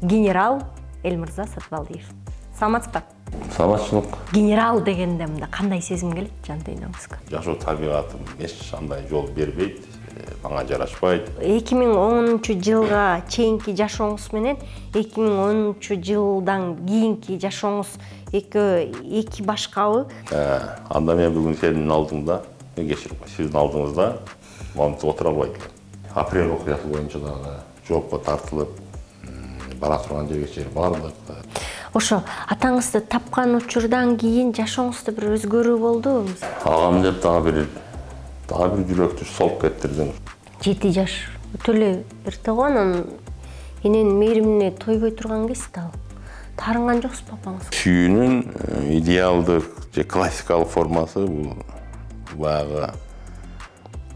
Генерал Элмырза Сатыбалдиев. Саламатсызбы? Саламатчылык. Генерал дегенде мында кандай сезим келет жан дүйнөңүзгө? Жашоо табигатым эч кандай жол бербейт, мага жарашпайт. 2010-жылга чейинки жашооңуз менен 2010-жылдан кийинки жашооңуз эки башкабы? Анда мен бүгүн сенин алдыңда, кечирип кой, сиздин алдыңызда монтип отура албайт элем. Апрель окуясы боюнча дагы жоопко тартылып, бара турган жерге чейин бардык. Ошо атаңызды тапкан учурдан кийин жашооңузда бир өзгөрүү болдубу? Агам деп дагы бир жүрөктү солуп кеттирдиң. 7 жаш өтө эле эрте го, анан эненин мээримине тойбой турган кезде ал. Таарынган жоксузбу апаңыз? Сүйүүнүн идеалдык же классикалык формасы бул баягы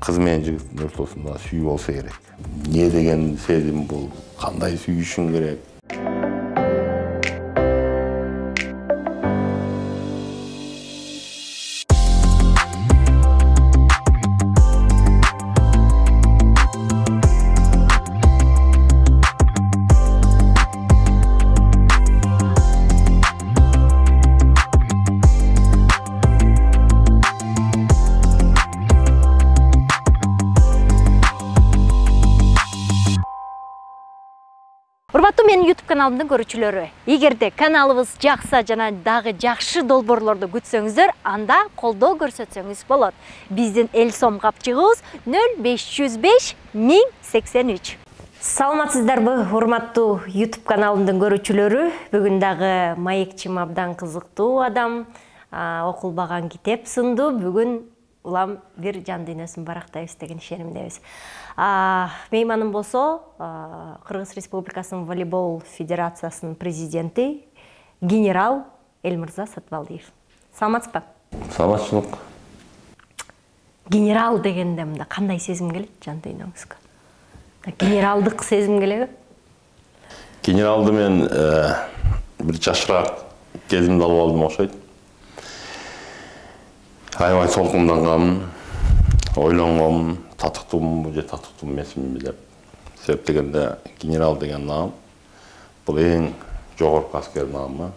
кыз менен жигиттин ортосунда сүйүү болсо керек. Не деген сезим бул? Кандай сүйүшүң керек? Урматтуу менин YouTube каналымдын көрүүчүлөрү, эгерде каналыбыз жакса жана дагы жакшы долбоорлорду күтсөңүздөр, анда колдоо көрсөтсөңүз болот. Биздин эл сом капчыгыбыз 0505 1083. Саламатсыздарбы, урматтуу YouTube каналымдын көрүүчүлөрү? Бүгүн дагы маекчим абдан кызыктуу адам, окулбаган китеп сынду. Бүгүн улам бир жан дүйнөсүн барактайбыз деген ишенимдебиз. Мейманым болсо Кыргыз Республикасынын волейбол федерациясынын президенти генерал Элмырза Сатыбалдиев. Саламатсызбы? Саламатчылык. Генерал дегенде мында кандай сезим келет жан дүйнөңүзгө? Генералдык сезим келеби? Генералды мен бир жашыраак кезимде алып алдым окшойт. Аябай толкундангам, ойлонгом, татыктуумбу же татыктуу эмесминби деп. Себеп дегенде генерал деген наам бул эң жогорку аскер наамы.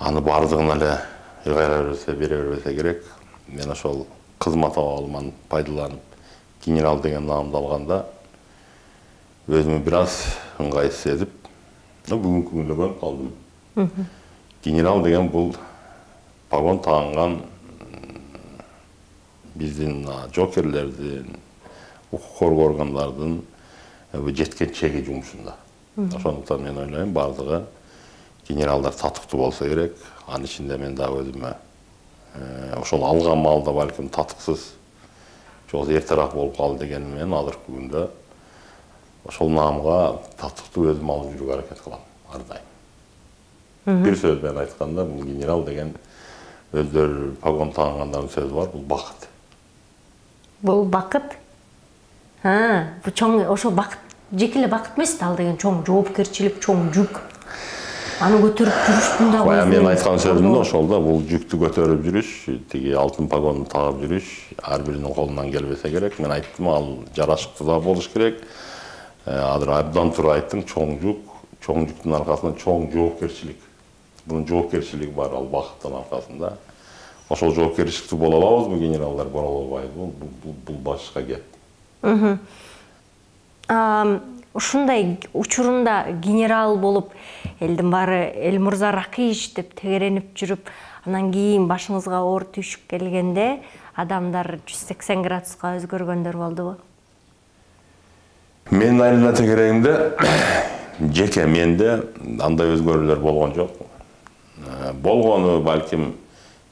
Аны бардыгына эле ыргайра бере бербесе керек. Мен ошол кызмат абалыман пайдаланып генерал деген наамды алганда өзүмө бир аз ыңгайсыз сезип, бүгүнкү күндө көрүп калдым. Генерал деген бул погон таанган биздин жокерлердин, укук коргоо органдардын жеткен чеги жумушунда. Ошондуктан мен ойлойм, бардыгы генералдар татыктуу болсо керек. Анын ичинде мен дагы өзүмө ошол алган маалда балким татыксыз жок эртерээк болуп калды дегеним менен азыркы күндө ошол наамга татыктуу өзүм алып жүрүүгө аракет кылам ар дайым. Бир сөз менен айтканда, бул генерал деген өздөрү погон таангандардын сөзү бар, бул бакыт. Бул бакыт? Бул чоң, ошо бакыт, жеке эле бакыт эмес да, ал деген чоң жоопкерчилик, чоң жүк. Аны көтөрүп жүрүштүн да. Бая мен айткан сөзүм да ошол да, бул жүктү көтөрүп жүрүш, тиги алтын погонду тагып жүрүш ар биринин колунан келбесе керек. Мен айттым, ал жарашыктуу да болуш керек. Азыр абдан туура айттың, чоң жүк, чоң жүктүн аркасында чоң жоопкерчилик. Bunun жоопкерчилиги бар, ал бакыттын аркасында. Ошол жоопкерчиликтүү боло алабызбы, генералдар боло албайбы? Бул башка кеп. Ушундай учурунда генерал болуп, элдин баары Элмырза Ракыйевич деп тегеренип жүрүп, анан кийин башыңызга оор түйшүк келгенде адамдар 180 градуска өзгөргөндөр болдубу? Менин айылына тегерегимде жеке менде андай өзгөрүүлөр болгон жок. Болгону балким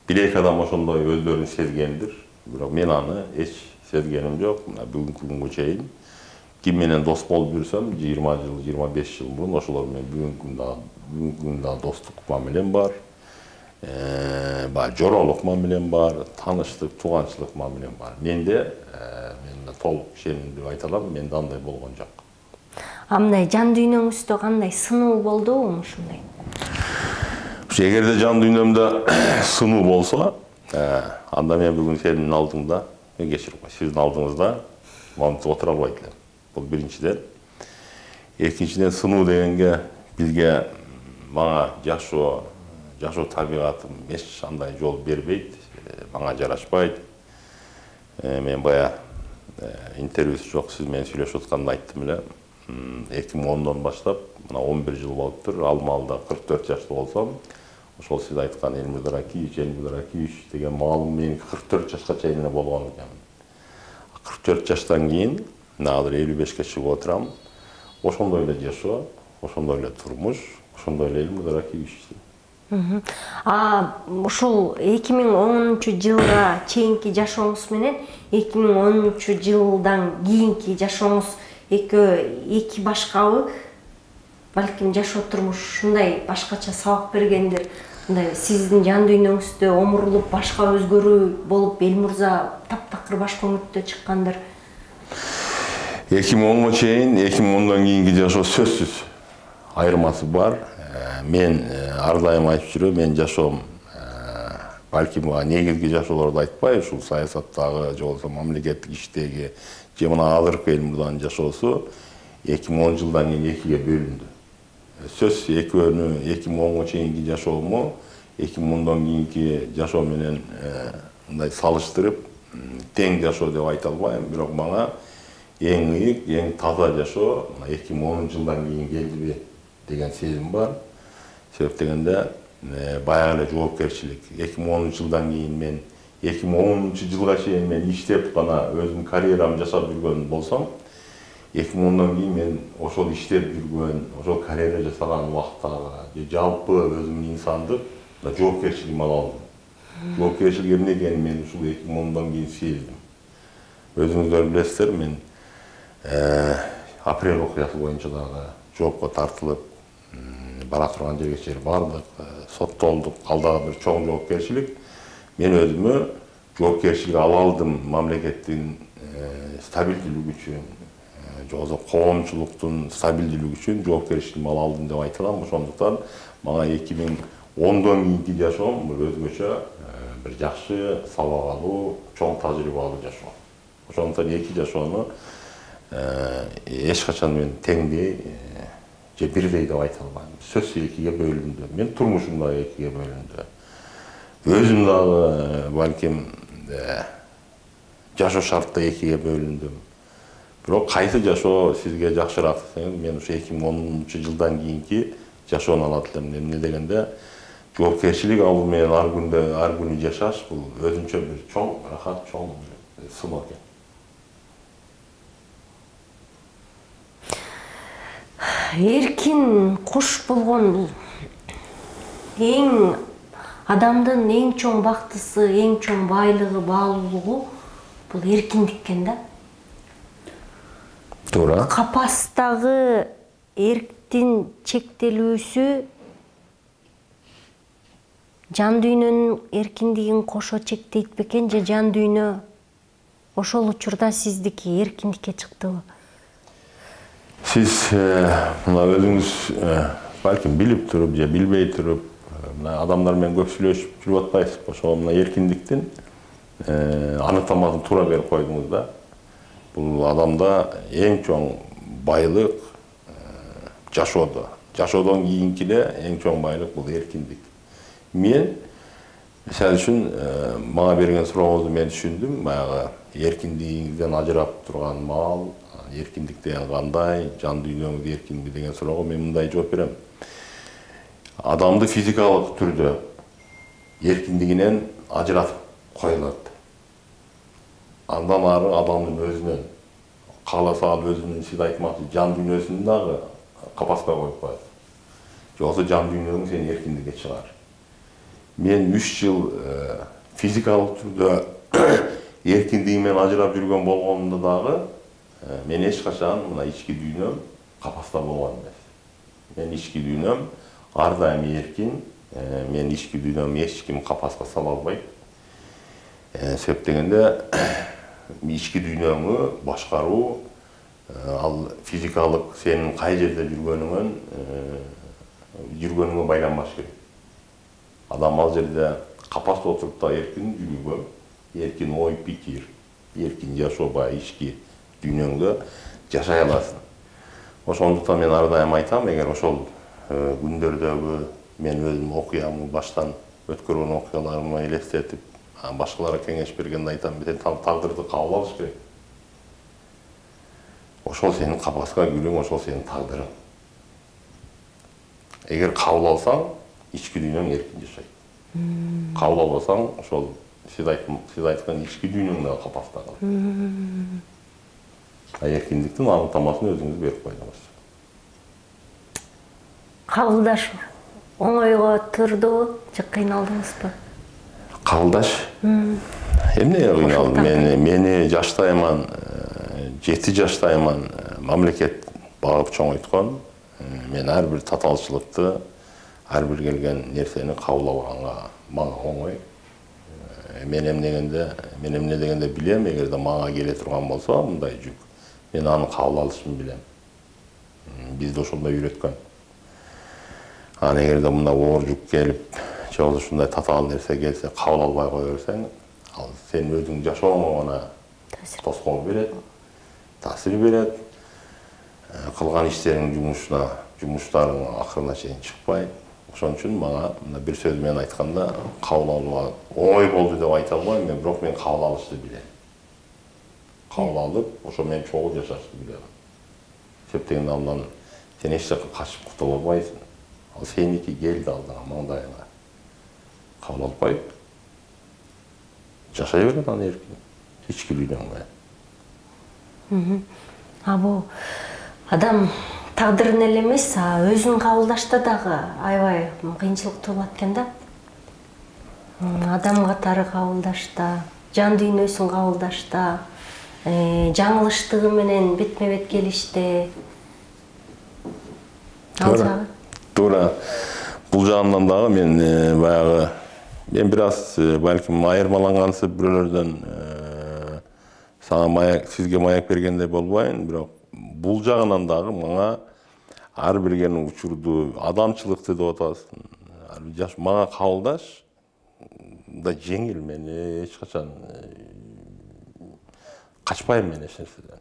бир-эки адам ошондой өздөрүн сезгендир. Бирок мен аны эч сезгеним жок. Бүгүнкү күнгө чейин ким менен дос болуп жүрсөм, 20 жыл, 25 жыл мурун ошолор менен бүгүнкү күндө достук мамилем бар. Жоролук мамилем бар, таныштык, тууганчылык мамилем бар. Менде толук ишенимдүү айта алам, менде андай болгон жок. Мындай жан дүйнөңүздө кандай сынуу болдубу ушундай? Эгерде жан дүйнөмдө сынуу болсо, анда мен бүгүн сенин алдыңда, кечирип кой, сиздин алдыңызда монтип отура албайт элем. Бул биринчиден. Экинчиден сынуу дегенге бизге мага жашоо табигатым эч андай жол бербейт, мага жарашпайт. Мен бая интервьюсу жок, сиз менен сүйлөшүп атканда айттым эле. 2010дон баштап мына 11 жыл болуптур. Ал маалда 44 жаштуу болсом, ошол сиз айткан Эльмурза Ракиевич деген маалым менин 44 жашка чейин эле болгон экен. 44 жаштан кийин азыр 55ке чыгып отурам. Ошондой эле жашоо, ошондой эле турмуш, ошондой эле Эльмурза Ракиевич. Ушул 2010-жылга чейинки жашооңуз менен 2010-жылдан кийинки жашооңуз эки башкабы? Балким жашоо турмуш ушундай башкача сабак бергендир. Мындай сиздин жан дүйнөңүздө омурулуп башка өзгөрүү болуп, Эльмурза таптакыр башка өңүттө чыккандыр. 2010га чейин, 2010дон кийинки жашоо сөзсүз айырмасы бар. Мен ар дайым айтып жүрөм, мен жашоом балким негизги жашоолорду айтпай, ушул саясаттагы же болбосо мамлекеттик иштеги же мына азыркы Эльмурзанын жашоосу 2010 жылдан кийин экиге бөлүндү. Сөз экөөнү 2010га чейинки жашоому 2010дон кийинки жашоо менен мындай салыштырып тең жашоо деп айта албайм, бирок мага эң ыйык, эң таза жашоо 2010 жылдан кийин келдиби деген сезим бар. Себеп дегенде баягы эле жоопкерчилик. 2010 жылдан кийин мен 2010 жылга чейин мен иштеп гана өзүмдүн карьерамды жасап жүргөн болсом, 2010дон кийин мен ошол иштеп жүргөн, ошол карьера жасаган убактагы жалпы өзүмдүн инсандык жоопкерчилигим ала алдым. Жоопкерчилик эмне экенин мен ушул 2010дон кийин сездим. Өзүңүздөр билесиздер, мен апрель окуясы боюнча дагы жоопко тартылып, бара турган жерге чейин бардык, соттолдук, ал дагы бир чоң жоопкерчилик. Мен өзүмө жоопкерчилик ала алдым, мамлекеттин стабилдүүлүгү үчүн, же болбосо коомчулуктун стабилдүүлүгү үчүн жоопкерчилигимди ала алдым деп айта алам. Ошондуктан мага 2010дон кийинки жашоом бир өзгөчө, бир жакшы, сабак алуу, чоң тажрыйба алуу жашоо. Ошондуктан эки жашоону эч качан мен теңдей же бирдей деп айта албайм. Сөз экиге бөлүндү. Мен турмушум да экиге бөлүндү. Өзүм дагы балким жашоо шартта экиге бөлүндүм. Бирок кайсы жашоо сизге жакшыраак десеңиз, мен ушу 2010-жылдан кийинки жашоону алат элем. Эмне дегенде, жоопкерчилик алуу менен ар күнү жашаш бул өзүнчө бир чоң рахат, чоң сыноо экен. Эркин куш болгон бул эң адамдын эң чоң бактысы, эң чоң байлыгы, баалуулугу бул эркиндик экен да. Туура. Капастагы эрктин чектелүүсү жан дүйнөнүн эркиндигин кошо чектейт бекен, же жан дүйнө ошол учурда сиздики эркиндикке чыктыбы? Сиз мына өзүңүз балким билип туруп же билбей туруп, мына адамдар менен көп сүйлөшүп жүрүп атпайсызбы? Ошол мына эркиндиктин анықтамасын туура берип койдуңуз да. Бул адамда эң чоң байлык жашоодо. Жашоодон кийинки эле эң чоң байлык бул эркиндик. Мен мисалы үчүн мага берген сурооңузду мен түшүндүм. Баягы эркиндигиңизден ажырап турган маал, эркиндик деген кандай, жан дүйнөңүз эркинби деген суроого мен мындай жооп берем. Адамды физикалык түрдө эркиндигинен ажыратып коюлат. Андан ары адамдын өзүнөн, кааласа ал өзүнүн, сиз айтмакчы, жан дүйнөсүн дагы капаска коюп коет. Же болбосо жан дүйнөң сени эркиндикке чыгар. Мен 3 жыл физикалык түрдө эркиндигимен ажырап жүргөн болгонумда дагы мен эч качан мына ички дүйнөм капаста болгон эмес. Мен ички дүйнөм ар дайым эркин, мен ички дүйнөм эч ким капаска сала албайт. Себеп дегенде ички дүйнөңү башкаруу ал физикалык сенин кай жерде жүргөнүңө байланбаш керек. Адам ал жерде капаста отуруп да эркин жүрүүгө, эркин ой пикир, эркин жашоо, баягы ички дүйнөңдө жашай аласың. Ошондуктан мен ар дайым айтам, эгер ошол күндөрдөгү мен өзүм окуямды баштан өткөргөн окуяларымды элестетип, башкаларга кеңеш бергенде айтам, сен тагдырды кабыл алыш керек. Ошол сенин капаска күлүң, ошол сенин тагдырың. Эгер кабыл алсаң, ички дүйнөң эркин жашайт. Кабыл албасаң, ошол сиз айткан ички дүйнөң да капаста калат. Эркиндиктин анықтамасын өзүңүз берип койдуңуз. Кабылдаш оңойго турдубу же кыйналдыңызбы? Кабылдаш? Эмнеге кыйналдым? Мени жаштайман, 7 жаштайман мамлекет багып чоңойткон. Мен ар бир татаалчылыкты, ар бир келген нерсени кабыл алганга мага оңой. Мен эмне дегенде билем, эгерде мага келе турган болсо мындай жүк, мен аны кабыл алышын билем. Бизди ошондой үйрөткөн. Аны эгерде мындай оор жүк келип, же болбосо ушундай татаал нерсе келсе, кабыл албай кое берсең, ал сен өзүң жашооңо гана тоскоол берет, таасир берет. Кылган иштериңдин жумуштарың акырына чейин чыкпайт. Ошон үчүн мага мына бир сөз менен айтканда кабыл алууга оңой болду деп айта албайм, бирок мен кабыл алышты билем. Кабыл алып, ошо менен чогуу жашашты билем. Септегенде андан сен эч жакка качып кутула албайсың. Ал сеники келди алдыңа, маңдайыңа. Кабыл албай жашай берет аны эркин. Ички дүйнөң менен. Бул адам тагдырын эле эмес, өзүн кабылдашта дагы аябай кыйынчылык туулат экен да. Адам катары кабылдашта, жан дүйнөсүн кабылдашта, жаңылыштыгы менен бетме-бет келиште. Туура. Бул жагынан дагы мен мен бир аз балким айырмалангансып бирөөлөрдөн сизге маяк бергендей болбойн, бирок бул жагынан дагы мага ар бир келген учурду адамчылыкты деп атасың. Мага кабылдаш да жеңил, мен эч качан качпайм мен эч нерседен.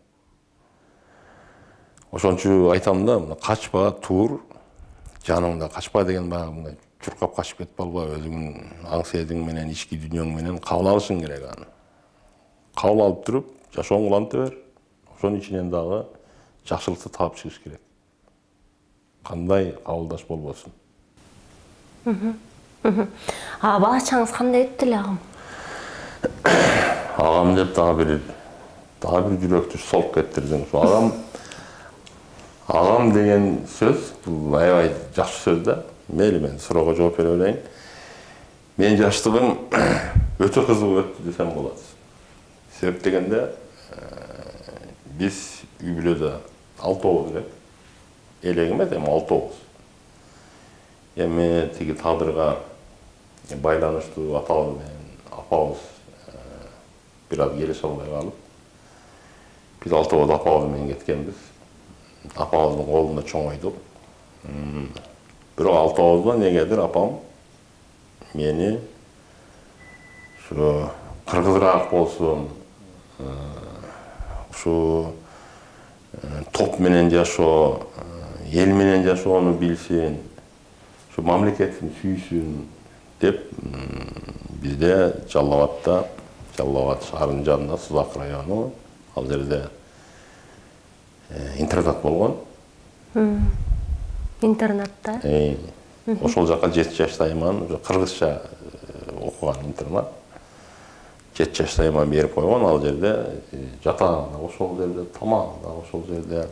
Ошон үчүн айтам да, качпа, тур, жаныңда качпа деген баягы мындай чуркап качып кетип албай, өзүңдүн аң сезиң менен, ички дүйнөң менен кабыл алышың керек аны. Кабыл алып туруп, жашооңду уланта бер. Ошонун ичинен дагы жакшылыкты таап чыгыш керек. Кандай кабылдаш болбосун. Бала-чаңыз кандай өттү эле агам? Агам деп дагы бир жүрөктү солуп кеттирдиң. Агам деген сөз, бул аябай жакшы сөз да. Мейли мен суроого жооп бере берейин. Мен жаштыгым өтө кызык өттү десем болот. Себеп дегенде биз үй бүлөдө 6 элек. Элек эмес, эми 6. Эми тиги тагдырга байланыштуу атабыз менен апабыз бир аз келише албай калып, биз 6 апабыз менен кеткенбиз. Апабыздын колунда чоңойдук. Бирок 6 негедир апам мени ушу кыргызыраак болсун, ушу топ менен жашоо, эл менен жашоону билсин, ушу мамлекетин сүйсүн деп бизде Жалал абад шаарынын жанында Сузак району, ал жерде интернат болгон. Интернатта? Ошол жака 7 жаштайман, кыргызча окуган интернат. 7 жаштайман берип койгон, ал жерде жатаган да ошол жерде, тамагы да ошол жерде.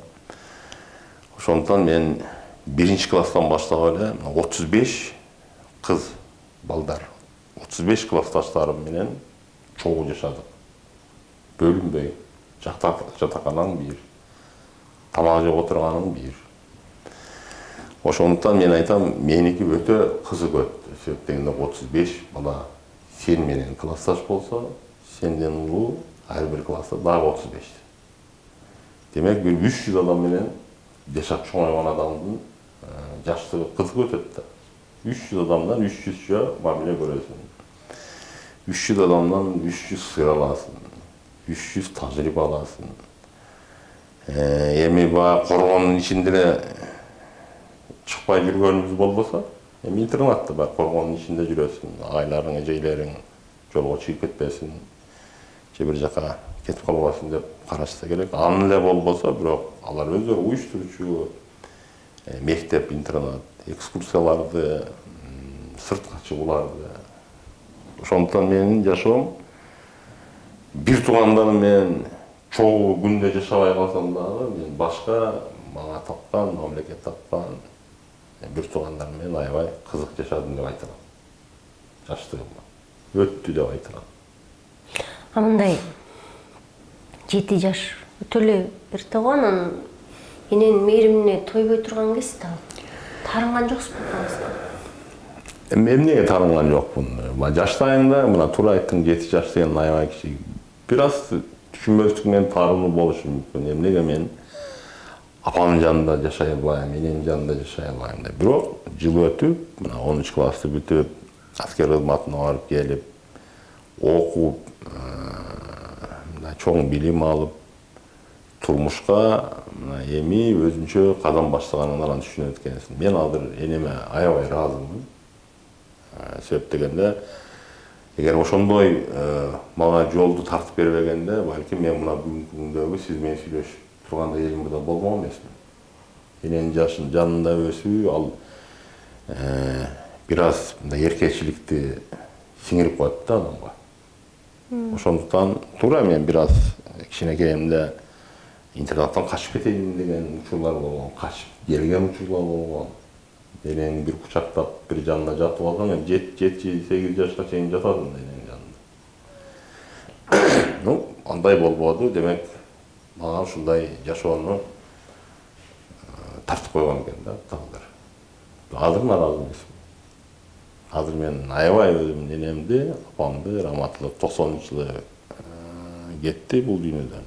Ошондуктан мен 1-класстан баштап эле 35 кыз балдар, 35 классташтарым менен чогуу жашадык. Бөлүнбөй, жатаканам бир, тамак жеп отурганым бир. Ошондуктан мен айтам, меники өтө кызык өттү. Себеп дегенде 35 бала сен менен классташ болсо, сенден улуу ар бир класста дагы 35. Демек, бир 300 адам менен жашап чоңойгон адамдын жаштыгы кызык өтөт да. 300 адамдан 300чө мамиле көрөсүң. 300 адамдан 300 сыр аласың, 300 тажрыйба аласың. Эми баягы коргондун ичинде эле чыкпай жүргөнүбүз болбосо, эми интернатта баягы коргондун ичинде жүрөсүң, агайларың, эжейлериң жолго чыгып кетпесин, же бир жака кетип калбасын деп карашса керек. Аны эле болбосо, бирок алар өздөрү уюштуруучу мектеп, интернат, экскурсияларды, сыртка чыгууларды. Ошондуктан менин жашоом бир туугандарым менен чогуу күндө жашабай калсам дагы, мен башка мага тапкан, мамлекет тапкан бир туугандарым менен аябай кызык жашадым деп айта алам. Жаштыгымда өттү деп айта алам. А мындай 7 жаш өтө эле эрте го, анан эненин мээримине тойбой турган кез да. Тарынган жоксузбу атаңызга? Эмнеге тарынган жокмун? Жаштайымда, мына туура айттың, 7 жаш деген аябай кичи. Бир аз түшүнбөстүк менен таарынуу болушу мүмкүн. Эмнеге мен апамдын жанында жашай албайм, энемдин жанында жашай албайм деп. Бирок жыл өтүп, мына 10 классты бүтүп, аскер кызматына барып келип, окуп, чоң билим алып, турмушка эми өзүнчө кадам баштаганыңдан түшүнөт экенсиң. Мен азыр энеме аябай ыраазымын. Себеп дегенде, эгер ошондой мага жолду тартып бербегенде, балким мен мына бүгүнкү күндөгү сиз менен сүйлөшүп тургандай жеримде болмок эмесмин. Эненин жашын жанында өсүү, ал бир аз мындай эркечиликти сиңирип коет да адамга. Ошондуктан туура мен бир аз кичинекейимде интернаттан качып кетейин деген учурлар болгон, качып келген учурлар болгон. Энени бир кучактап, бир жанында жатып алсаң, 7-8 жашка чейин жатадым эненин жанында. Ну, андай болбоду, демек мага ушундай жашоону тартып койгон экен да тагдыр. Азыр нааразы эмесмин. Азыр мен аябай өзүмдүн энемди, апамды раматылык 90-жылы кетти бул дүйнөдөн.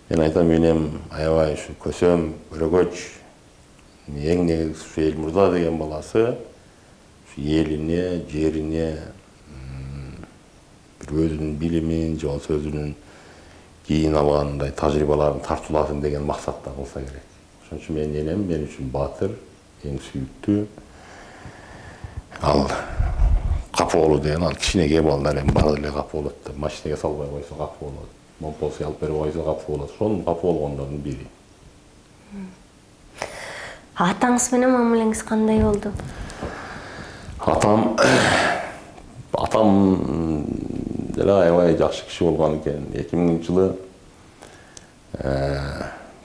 Мен айтам, энем аябай ушу көсөм, көрөгөч, эң негизгиси ушу Элмурза деген баласы ушу элине, жерине бир өзүнүн билимин, же болбосо өзүнүн кийин алгандай тажрыйбаларын тартууласын деген максатта кылса керек. Ошон үчүн менин энем мен үчүн баатыр, эң сүйүктүү. Ал капы болуу деген, ал кичинекей балдар эми баары эле капы болот деп, машинеге салбай койсо капы болот, момполсуга алып берип койсо капы болот. Ошонун капы болгондордун бири. Атаңыз менен мамилеңиз кандай болду? Атам деле аябай жакшы киши болгон экен. 2000-жылы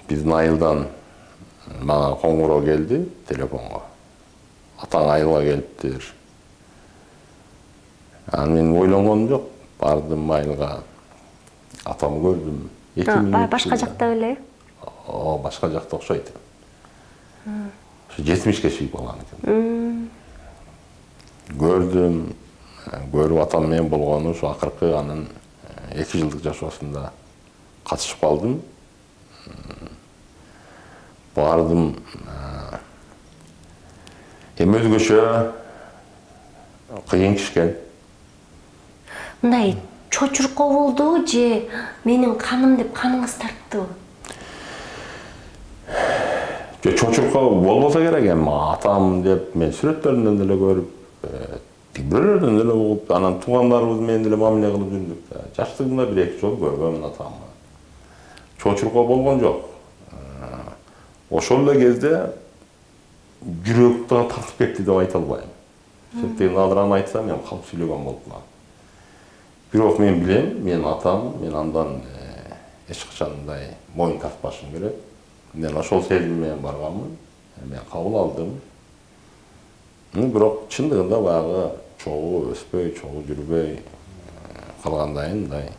биздин айылдан мага коңгуроо келди телефонго. Атаң айылга келиптир. Анан мен ойлонгонум жок. Бардым айылга. Атамды көрдүм. Башка жакта беле? Башка жакта окшойт. 70-ке чыгып калган экен. Көрдүм, көрүп атам менен болгону ушу акыркы анын 2 жылдык жашоосунда катышып калдым. Бардым. Эми өзгөчө кыйын кишкен. Мындай чочурко болду же менин каным деп каныңыз тарттыбы? Чочурка болбосо керек, эми атам деп мен сүрөттөрүндөн деле көрүп, бирөөлөрдөн деле угуп, анан туугандарыбыз менен деле мамиле кылып жүрдүк. Жаштыгымда 1-2 жолу көргөмүн атамды. Чочурка болгон жок. Ошол эле кезде жүрөк да тартып кетти деп айта албайм. Себеби азыр аны айтсам, мен калп сүйлөгөн болуп калам. Бирок мен билем, мен атам, мен андан эч качан мындай моюн тартпашым керек. Мен ошол сезим менен барганмын, мен кабыл алдым. Бирок чындыгында баягы чогуу өспөй, чогуу жүрбөй калгандайын мындай.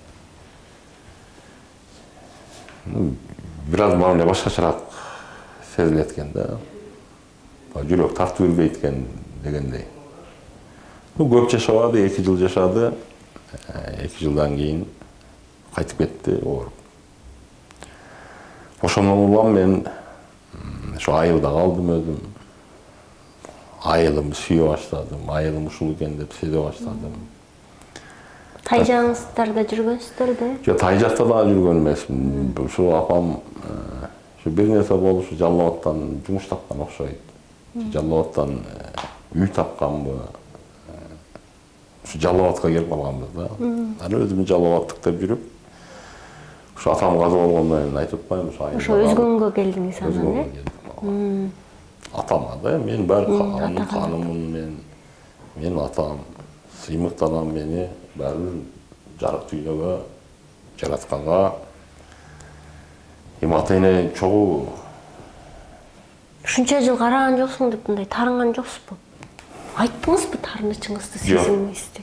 Бир аз мамиле башкачараак сезилет экен да. Жүрөк тартып жүрбөйт экен дегендей. Көп жашабады, 2 жыл жашады. 2 жылдан кийин кайтып кетти ооруп. Ошондон улам мен ошо айылда калдым өзүм. Айылымды сүйө баштадым, айылым ушул экен деп сезе баштадым. Тайжаңыздарда жүргөнсүздөр да? Жок, тай жакта дагы жүргөн эмесмин. Ушу апам бир нерсе болуп ушу Жалал Абадтан жумуш тапкан окшойт. Жалал Абадтан үй тапканбы? Ушу Жалал Абадка келип калганбыз да. Аны өзүм Жалал Абадтык деп жүрүп, ушу атам каза болгондон кийин айтып атпайбы, ошо өзгөнгө келдиңиз анан, э? Атама да, мен баары ханыммын, мен атам, сыймыктаган мени баары жарык дүйнөгө жаратканга ата-эне чогуу. Ушунча жыл караган жоксуң деп мындай тарынган жоксузбу? Айттыңызбы тарынычыңызды, сезимиңизди?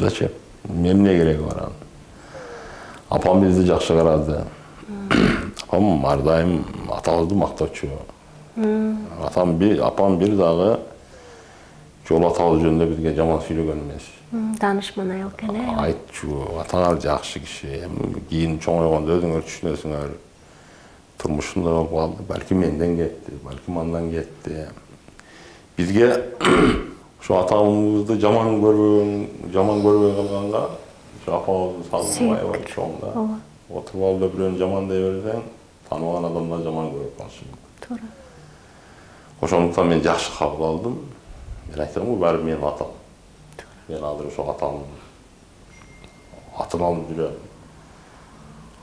Зачем? Эмне кереги бар анын? Апам бизди жакшы карады. Апам ар дайым атабызды мактоочу. Апам бир дагы жол атабыз жөнүндө бизге жаман сүйлөгөн эмес. Данышман айыл экен, э? Айтчу, атаңар жакшы киши. Кийин чоңойгондо өзүңөр түшүнөсүңөр. Турмушунда болуп калды. Балким менден кетти, балким андан кетти. Бизге ошо атамызды жаман көрбөй калганга, ошо апабызды салынбай бар чоңда. Отуруп алып бирөөнү жамандай берсең, тааныбаган адамдар жаман көрүп калышы мүмкүн. Туура. Ошондуктан мен жакшы кабыл алдым. Мен айтам го, баары менин атам. Мен азыр ошо атамдын атын алып жүрөм.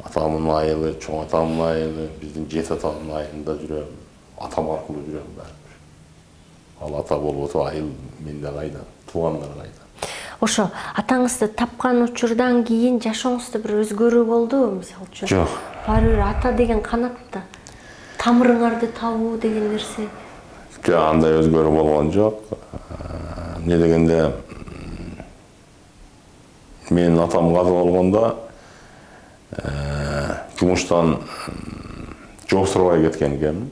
Атамдын айылы, чоң атамдын айылы, биздин жет атамдын айылында жүрөм. Атам аркылуу жүрөм баары. Ал ата болуп отуп айыл менде кайда, туугандар кайда. Ошо атаңызды тапкан учурдан кийин жашооңузда бир өзгөрүү болдубу, мисалы үчүн? Жок. Баары бир ата деген канатта. Тамырыңарды табуу деген нерсе. Жок, андай өзгөрүү болгон жок. Эмне дегенде, менин атам каза болгондо жумуштан жоксурбай кеткен экен.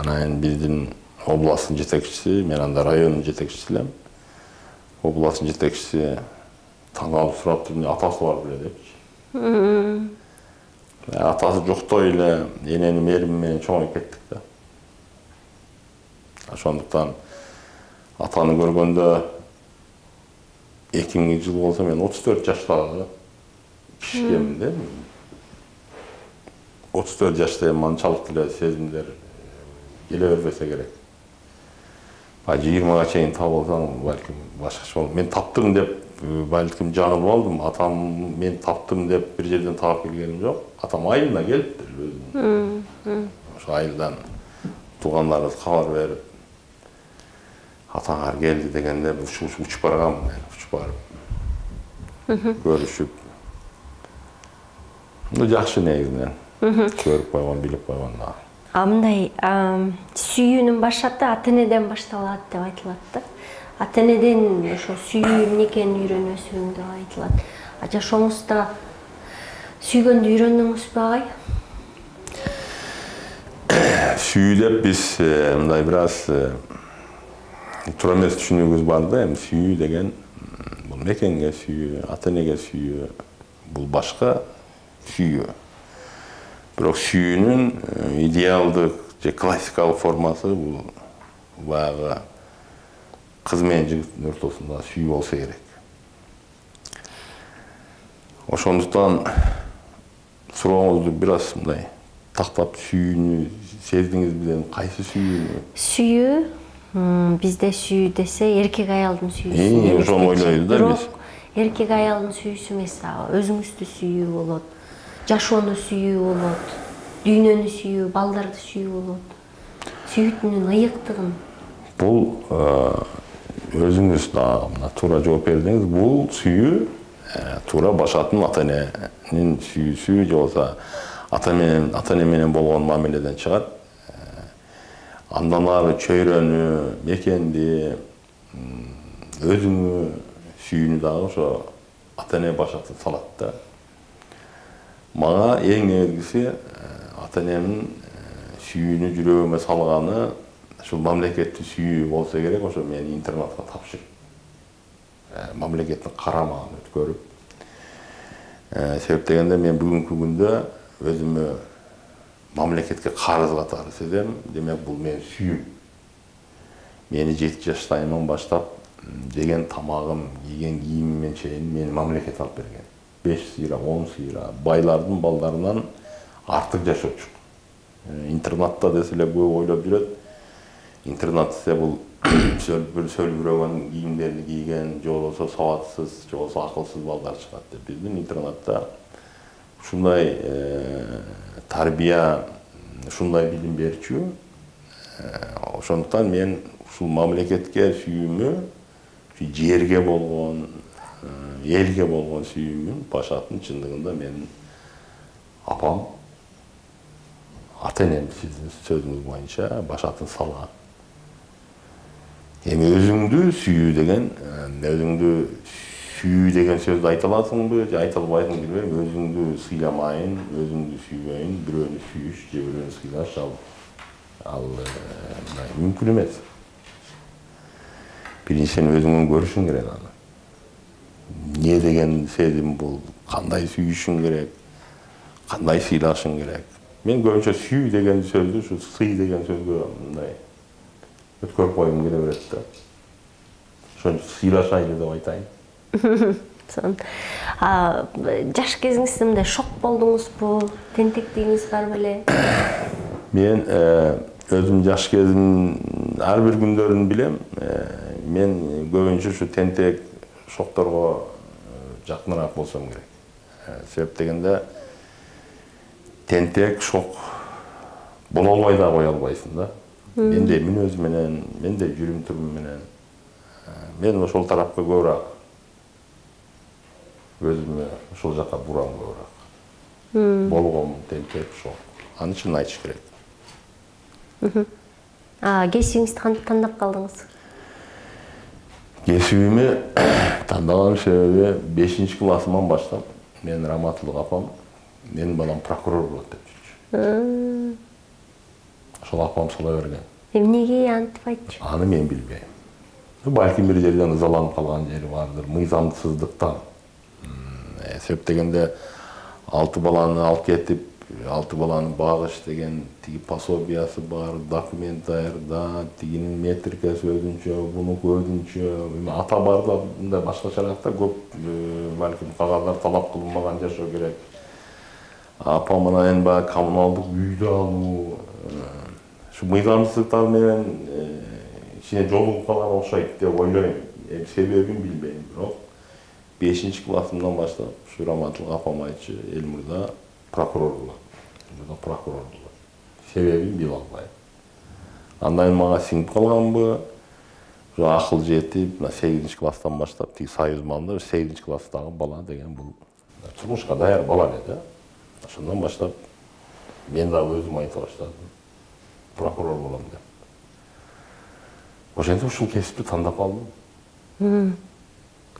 Анан биздин областтын жетекчиси, мен анда райондун жетекчиси элем. Областтын жетекчиси таң калып сураптыр, атасы бар беле депчи. Атасы жоктой эле эненин мээрими менен чоңоюп кеттик да. Ошондуктан атаны көргөндө 2000 жыл болсо мен 34 жаштагы кишимин да. 34 жашта манчалык эле сезимдер келе бербесе керек. 20-га чейин табылсаң, балким башкача болот. Мен таптым деп, балким жаңылып алдым. Атам мен таптым деп бир жерден таап келгеним жок. Атам айылына келиптир өзүнүн. Ошо айылдан туугандарыбыз кабар берип, атаңар келди дегенде учуп баргам, мен учуп барып көрүшүп. Жакшы негизинен көрүп койгон, билип койгон да. Мындай сүйүүнүн башаты ата-энеден башталат деп айтылат да. Ата-энеден ошо сүйүү эмне экенин үйрөнөсүң деп айтылат. Жашооңузда сүйгөндү үйрөндүңүзбү агай? Сүйүү деп биз мындай бир аз туура эмес түшүнүгүбүз бар да. Эми сүйүү деген бул мекенге сүйүү, ата-энеге сүйүү, бул башка сүйүү. Бирок сүйүүнүн идеалдык же классикалык формасы бул баягы кыз менен жигиттин ортосунда сүйүү болсо керек. Ошондуктан сурооңузду бир аз мындай тактап сүйүүнү сездиңиз билем, кайсы сүйүүнү? Сүйүү, бизде сүйүү десе эркек аялдын сүйүүсү. Ошону ойлойбуз да биз. Эркек аялдын сүйүүсү эмес, өзүңүздү сүйүү болот. Жашоону сүйүү болот, дүйнөнү сүйүү, балдарды сүйүү болот. Сүйүүтүнүн ыйыктыгын. Бул өзүңүз туура жооп бердиңиз. Бул сүйүү туура башатын ата-эненин сүйүүсү же болбосо ата-эне менен болгон мамиледен чыгат. Андан ары чөйрөнү, мекенди, өзүңү сүйүүнү дагы ошо ата-эне башатып салат да. Мага эң негизгиси ата-энемдин сүйүүнү жүрөгүмө салганы ушул мамлекеттик сүйүү болсо керек. Ошо мени интернатка тапшырып, мамлекеттин карамагын өткөрүп. Себеп дегенде мен бүгүнкү күндө өзүмө мамлекетке карыз катары сезем. Демек бул менин сүйүүм. Мени 7 жаштайымдан баштап жеген тамагым, кийген кийимимен чейин мени мамлекет алып берген. 5 сыйра, 10 сыйра, байлардын балдарынан артык жашоочу. Интернатта десе эле көп ойлоп жүрөт. Интернат десе бул сөлбүрөгөн кийимдерди кийген, же болбосо сабатсыз, же болбосо акылсыз балдар чыгат деп. Биздин интернатта ушундай тарбия, ушундай билим берчү. Ошондуктан мен ушул мамлекетке сүйүүмү, жерге болгон, элге болгон сүйүүмүн башатын чындыгында менин апам, ата-энем сиздин сөзүңүз боюнча башатын салган. Эми өзүңдү сүйүү деген сөздү айта аласыңбы, же айта албайсыңбы билбейм. Өзүңдү сыйламайын, өзүңдү сүйбөйүн, бирөөнү сүйүш же бирөөнү сыйлаш ал мүмкүн эмес. Биринчиден өзүңөн көрүшүң керек аны. Не деген сезим бул, кандай сүйүшүң керек, кандай сыйлашың керек. Мен көбүнчө сүйүү деген сөздү, ушу сый деген сөзгө мындай өткөрүп койгум келе берет да. Ошон сыйлашайлы деп айтайын. Жаш кезиңизде мындай шок болдуңузбу? Тентектигиңиз бар беле? Мен өзүм жаш кезим ар бир күндөрүн билем. Мен көбүнчө ушу тентек шокторго жакыныраак болсом керек. Себеп дегенде тентек шок боло албай да кое албайсың да. Менде мүнөз менен, менде жүрүм турум менен. Мен ошол тарапка көбүрөөк өзүмө ошол жака бурам көбүрөөк. Болгом тентек шок. Аны чын айтыш керек. Кесибиңизди кантип тандап калдыңыз? Кесибими тандаган себеби 5-классыман баштап менин раматылык апам менин балам прокурор болот деп жүрчү. Ошол апам сала берген. Эмнеге антип айтчу? Аны мен билбейм. Балким бир жерден ызаланып калган жери бардыр, мыйзамсыздыктан. Себеп дегенде 6 баланы алып кетип, 6 баланы багыш деген тиги пособиясы бар, документ даярда, тигинин метрикасы өзүнчө, бунуку өзүнчө. Ата бар да мындай башкачараак да көп балким кагаздар талап кылынбаган жашоо керек. Апам анан баягы коммуналдык үйдү алуу, ушу мыйзамсыздыктар менен ичине жолугуп калган окшойт деп ойлойм. Себебин билбейм, бирок 5-классымдан баштап ушу раматылык апам айтчу, Элмурда прокурор болот. Прокурор болот. Себебин биле албайм. Андан мага сиңип калганбы? Ушу акыл жетип, 8-класстан баштап тиги союз малында 8-класстагы бала деген бул турмушка даяр бала эле да. Ошондон баштап мен дагы өзүм айта баштадым. Прокурор болом деп. Ошентип ушул кесипти тандап алдым.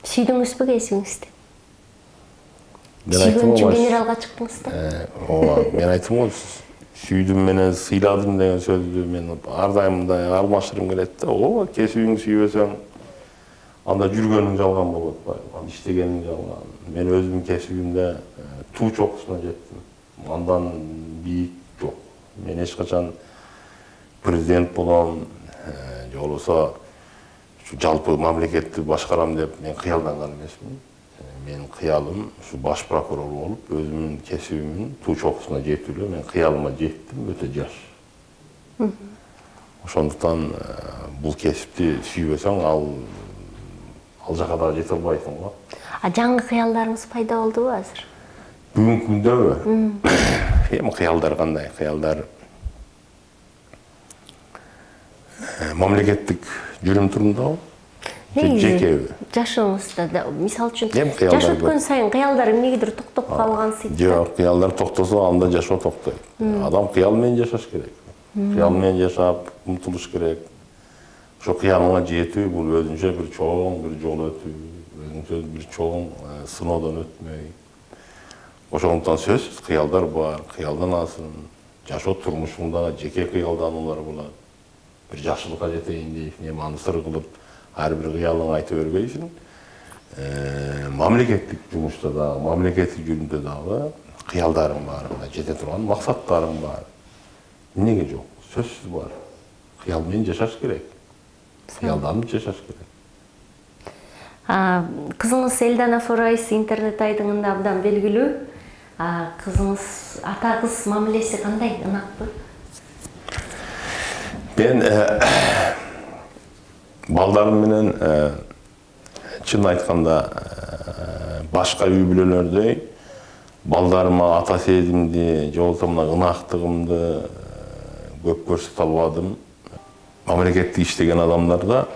Сүйдүңүзбү кесибиңизди? Сүйгөн үчүн генералга чыктыңыз да? Мен айттым го, сүйдүм менен сыйладым деген сөздү мен ар дайым мындай алмаштыргым келет да. Ооба, кесибиңди сүйбөсөң, анда жүргөнүң жалган болот, иштегениң жалган. Мен өзүмдүн кесибимде туу чокусуна жеттим. Андан бийик жок. Мен эч качан президент болом, же болбосо жалпы мамлекетти башкарам деп мен кыялданган эмесмин. Менин кыялым ушу баш прокурор болуп, өзүмдүн кесибимдин туу чокусуна жетүү эле. Мен кыялыма жеттим өтө жаш. Ошондуктан бул кесипти сүйбөсөң, ал жака дагы жете албайсың го. Жаңы кыялдарыңыз пайда болдубу азыр? Бүгүнкү күндөбү? Эми кыялдар кандай? Кыялдар мамлекеттик жүрүм турумдабы? Жекеби? Жашооңузда, мисалы үчүн, жаш өткөн сайын кыялдар эмнегедир токтоп калган сыйт. Жок, кыялдар токтосо анда жашоо токтойт. Адам кыял менен жашаш керек. Кыял менен жашап, умтулуш керек. Ошо кыялыңа жетүү бул өзүнчө бир чоң бир жол өтүү, өзүнчө бир чоң сыноодон өтмөй. Ошондуктан сөзсүз кыялдар бар, кыялданасың. Жашоо турмушуңда жеке кыялдануулар болот. Бир жакшылыкка жетейин дейсиң, эми аны сыр кылып ар бир кыялыңды айта бербейсиң. Мамлекеттик жумушта дагы, мамлекеттик жүрүмдө дагы кыялдарың бар, жете турган максаттарың бар. Эмнеге жок? Сөзсүз бар. Кыял менен жашаш керек. Кыялданып жашаш керек. Кызыңыз Элдана Форайс интернет айдыңында абдан белгилүү. Кызыңыз ата кыз мамилеси кандай, ынакпы? Мен балдарым менен чын айтканда башка үй бүлөлөрдөй балдарыма ата сезимди же болбосо мына ынактыгымды көп көрсөтө албадым. Мамлекеттик иштеген адамдарда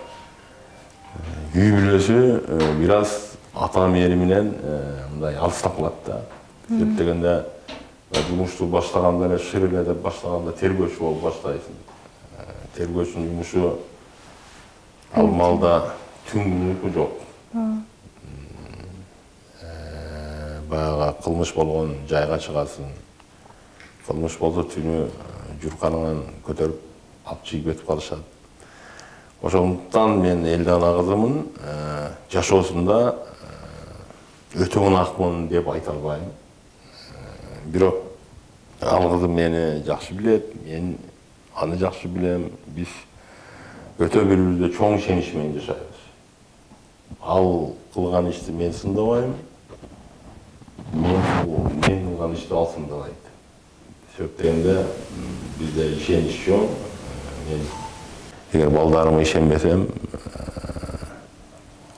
үй бүлөсү бир аз ата мээри менен мындай алыстап калат да. Деп дегенде жумушту баштаганда эле шыр эле деп баштаганда тергөөчү болуп баштайсың. Тергөөчүнүн жумушу ал маалда түн uyku жок. Баягы кылмыш болгон жайга чыгасың. Кылмыш болсо түнү журканыңан көтөрүп алып чыгып кетип калышат. Ошондуктан мен Элдана кызымын жашоосунда өтө ынакмын деп айта албайм. Бирок ал кызым мени жакшы билет, мен аны жакшы билем. Биз өтө бири-бирибизге чоң ишенич менен жашайбыз. Ал кылган ишти мен сындабайм. Мен кылган ишти ал сындабайт. Себеп дегенде бизде ишенич жок. Мен эгер балдарыма ишенбесем,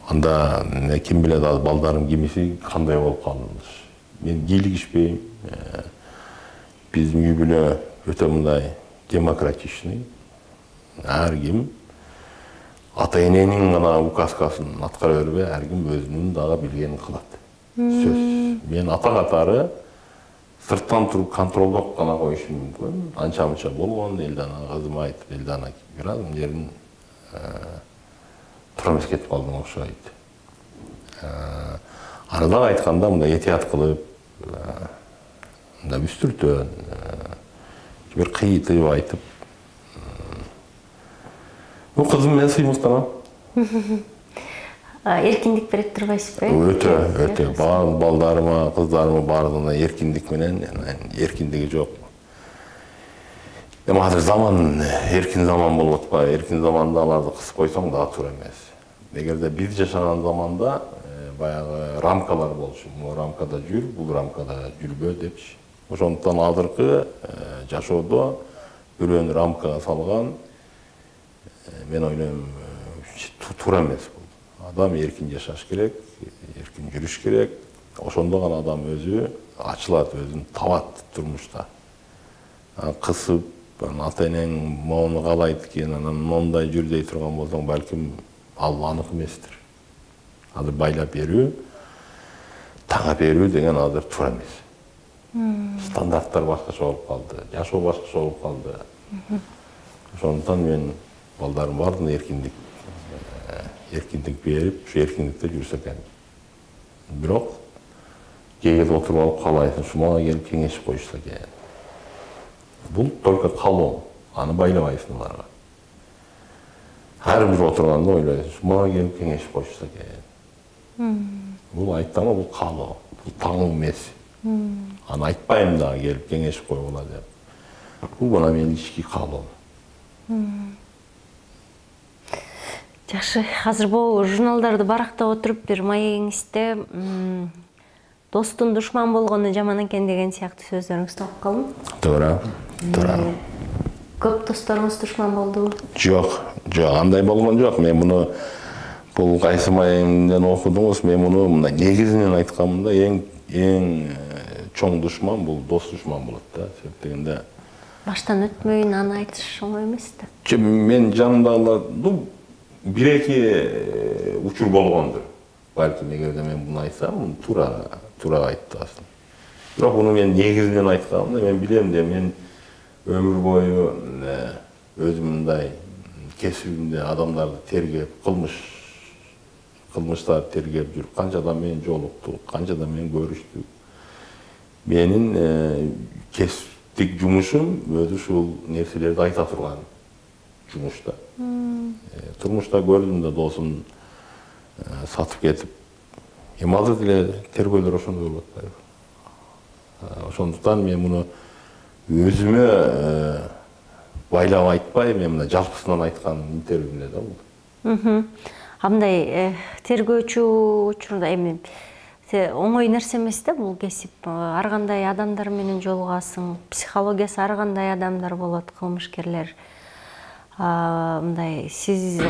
анда ким билет ал балдарым кимиси кандай болуп калдыш. Мен кийлигишпейм. Биздин үй бүлө өтө мындай демократичный. Ар ким ата эненин гана указкасын аткара бербей, ар ким өзүнүн дагы билгенин кылат. Сөз. Мен ата катары сырттан туруп контролдоп гана коюшум мүмкүн. Анча-мынча болгон, Элдана кызым айтып, Элдана бир аз жерин тура эмес кетип калдың окшойт. Аны дагы айтканда мындай этият кылып, мындай үстүртөн, бир кыйытып айтып. Бул кызым менен сыймыктанам. Эркиндик берет турбайсызбы? Өтө. Балдарыма, кыздарыма баардыгына эркиндик менен, эркиндиги жок. Эми азыр заман эркин заман болуп атпайбы? Эркин заманда аларды кысып койсоң дагы туура эмес. Эгерде биз жашаган заманда баягы рамкалар болчу. Бул рамкада жүр, бул рамкада жүрбө депчи. Ошондуктан азыркы жашоодо бирөөнү рамкага салган, мен ойлойм, туура эмес бул. Адам эркин жашаш керек, эркин жүрүш керек. Ошондо гана адам өзү ачылат, өзүн табат турмушта. Кысып, ата энең моуну каалайт экен, анан мондай жүр дей турган болсоң, балким ал анык эместир. Азыр байлап берүү, таңа берүү деген азыр туура эмес. Стандарттар башкача болуп калды, жашоо башкача болуп калды. Ошондуктан мен балдарым баардыгына эркиндик берип, ушу эркиндикте жүрсө экен. Бирок кээде отуруп алып каалайсың, шумага келип кеңешип коюшса экен. Бул только каалоо, аны байлабайсың аларга. Ар бир отурганда ойлойсуң, шумага келип кеңешип коюшса экен. Бул айттама, бул каалоо, бул таңуу эмес. Аны айтпайм дагы келип кеңешип койгула деп. Бул гана менин ички каалоом. Жакшы, азыр бул журналдарды барактап отуруп бир маегиңизде достун душман болгону жаман экен деген сыяктуу сөздөрүңүздү окуп калдым. Туура. Көп досторуңуз душман болдубу? Жок, андай болгон жок. Мен муну бул кайсы маегимден окудуңуз, мен муну мындай негизинен айтканымда эң чоң душман бул дос душман болот да. Себеп дегенде баштан өтмөйүн аны айтыш оңой эмес да. Мен жанымдагылар бир-эки учур болгондур. Балким эгерде мен буну айтсам, туура айтасың. Бирок буну мен негизинен айтканымда мен билем де, мен өмүр бою өзүм мындай кесибимде адамдарды тергеп, кылмыштарды тергеп жүрүп, канча адам менен жолуктук, канча адам менен көрүштүк. Менин кесиптик жумушум өзү ушул нерселерди айта турган жумушта. Турмушта көрдүм да досум сатып кетип, эми азыр деле тергөөлөр ошондой болуп атпайбы. Ошондуктан мен муну өзүмө байлап айтпай, мен мына жалпысынан айткан интервьюмда да бул. Андай тергөөчү учурда эми оңой нерсе эмес да бул кесип. Ар кандай адамдар менен жолугасың, психологиясы ар кандай адамдар болот, кылмышкерлер. Мындай сиз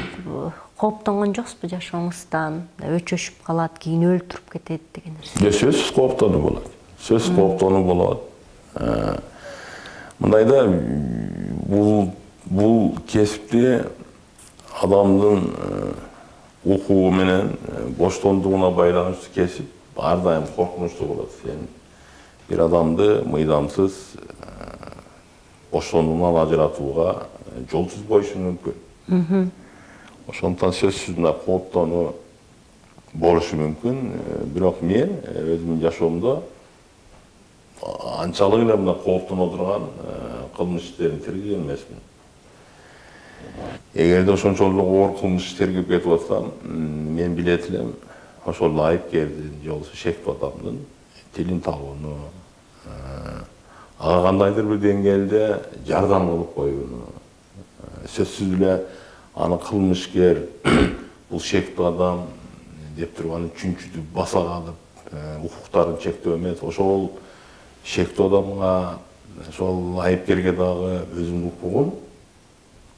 кооптонгон жоксузбу жашооңуздан? Өчөшүп калат, кийин өлтүрүп кетет деген нерсе. Сөзсүз кооптонуу болот. Сөзсүз кооптонуу болот. Мындайда бул кесипти адамдын укугу менен боштондугуна байланыштуу кесип ар дайым коркунучтуу болот. Сен бир адамды мыйдамсыз боштондугунан ажыратууга жолсуз коюшуң мүмкүн. Ошондуктан сөзсүз мына кооптонуу болушу мүмкүн. Бирок мен өзүмдүн жашоомдо анчалык эле мына кооптоно турган кылмыш иштерин тергеген эмесмин. Эгерде ошончолук оор кылмыш тергеп кетип атсам, мен билет элем ошол айыпкердин же болбосо шектүү адамдын тилин табууну, ага кандайдыр бир деңгээлде жардам кылып коюуну, сөзсүз эле аны кылмышкер, бул шектүү адам деп туруп аны чүнчүтүп, баса калып, укуктарын чектөө эмес, ошол шектүү адамга, ошол айыпкерге дагы өзүнүн укугун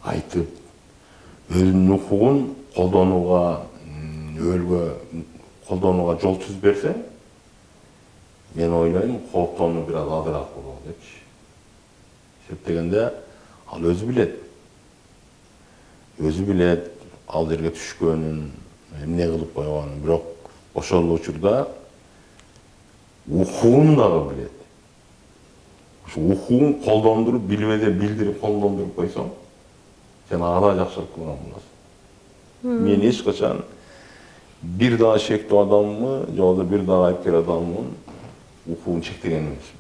айтып, өзүнүн укугун колдонууга, колдонууга жол түзүп берсе, мен ойлойм, кооптонуу бир аз азыраак болот депчи. Себеп ал өзү билет. Өзү билет, ал жерге түшкөнүн, эмне кылып койгонун, бирок ошол учурда укугун дагы билет. Ушу укугун колдондуруп, билбеде билдирип колдондуруп койсоң, сен ага да жакшылык кылган болосуң. Мен эч качан бир дагы шектүү адаммы, же болбосо бир дагы айыпкер адаммын укугун чектеген эмесмин.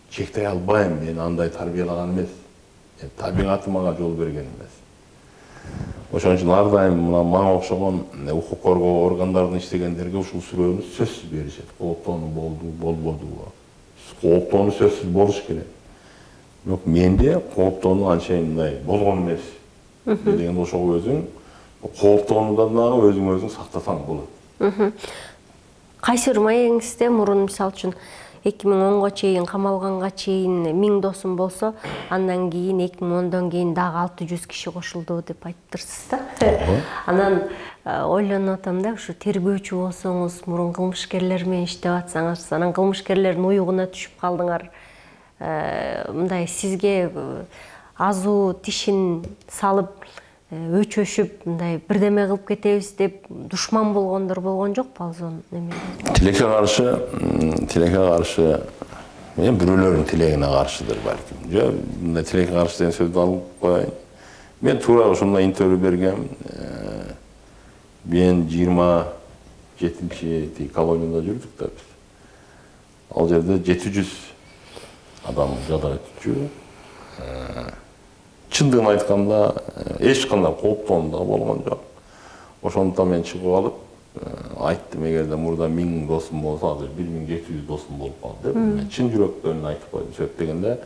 Чектей албайм, мен андай тарбиялаган эмес. Табигатым ага жол берген эмес. Ошон үчүн ар дайым мына мага окшогон укук коргоо органдарында иштегендерге ушул суроону сөзсүз беришет. Кооптонуу болду, болбодубу? Кооптонуу сөзсүз болуш керек. Бирок менде кооптонуу анчейин мындай болгон эмес. Дегенде ошого өзүң кооптонуудан дагы өзүң сактасаң болот. Кайсы бир маегиңизде мурун мисалы үчүн 2010 чейин камалганга чейин 1000 досум болсо, андан кийин 2010дон кийин дагы 600 киши кошулду деп айттырсыз да. Анан ойлонуп атам да, ушу тергөөчү болсоңуз, мурун кылмышкерлер менен иштеп атсаңыз, анан кылмышкерлердин уюгуна түшүп калдыңар. Мындай сизге азуу тишин салып, өчөшүп, мындай бирдеме кылып кетебиз деп душман болгондор болгон жокпу алзон неме? Тилекке каршы, мен бирөөлөрдүн тилегине каршыдыр балким. Же мындай тилекке каршы деген сөздү алып коеюн. Мен туура ошондой интервью бергем. Мен 27-чи колонияда жүрдүк да биз. Ал жерде 700 адам жада өтчү. Чындыгын айтканда эч кандай кооптонуу да болгон жок. Ошондуктан мен чыгып алып айттым, эгерде мурда 1000 досум болсо, азыр 1700 досум болуп калды деп. Мен чын жүрөктөн айтып койдум. Себеп дегенде